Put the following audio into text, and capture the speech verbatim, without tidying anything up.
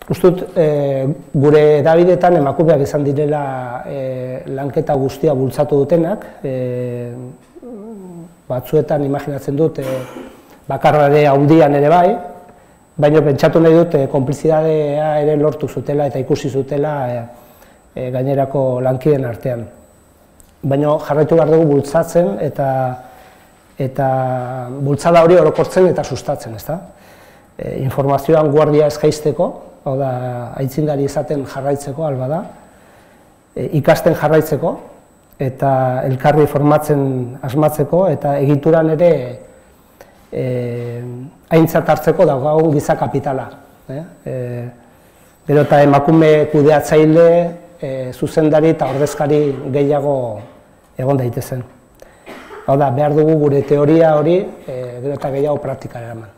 Uste dut, gure edabidetan emakumeak izan direla lanketa guztia bultzatu dutenak, batzuetan imaginatzen dut bakarrare handian ere bai, baina pentsatu nahi dut konplizidadea ere lortu zutela eta ikusi zutela gainerako lankideen artean. Baina jarraitu behar dugu bultzatzen eta eta bultzada hori orokortzen eta sustatzen, ezta? Informazioan guardia ez jaisteko, hau da, aitzindari izaten jarraitzeko, alba da, ikasten jarraitzeko, eta elkarri formatzen asmatzeko, eta egituran ere aintzat hartzeko daukagun giza kapitala. Gero eta emakume kudeatzaile, zuzendari eta ordezkari gehiago egon daitezen. Hau da, behar dugu gure teoria hori gero eta gehiago praktikara eraman.